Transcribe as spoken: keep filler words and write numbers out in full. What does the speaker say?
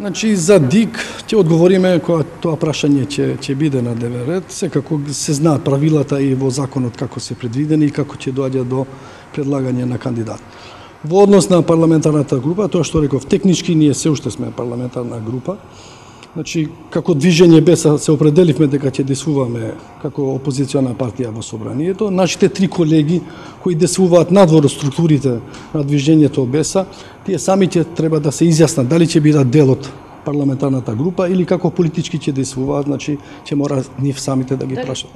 Значи, за ДИК ќе одговориме кога тоа прашање ќе ќе биде на дневен ред. Секако се знаат правилата и во законот како се предвидени и како ќе доаѓа до предлагање на кандидат. Во однос на парламентарната група, тоа што реков, технички ние се уште сме парламентарна група. Значи, како движење БЕСА се определивме дека ќе действуваме како опозициона партија во собранието. Нашите три колеги кои действуваат надвор од структурите на движењето БЕСА, тие сами ќе треба да се изјаснат дали ќе бидат дел од парламентарната група или како политички ќе действуваат, значи ќе мора нив самите да ги прашат.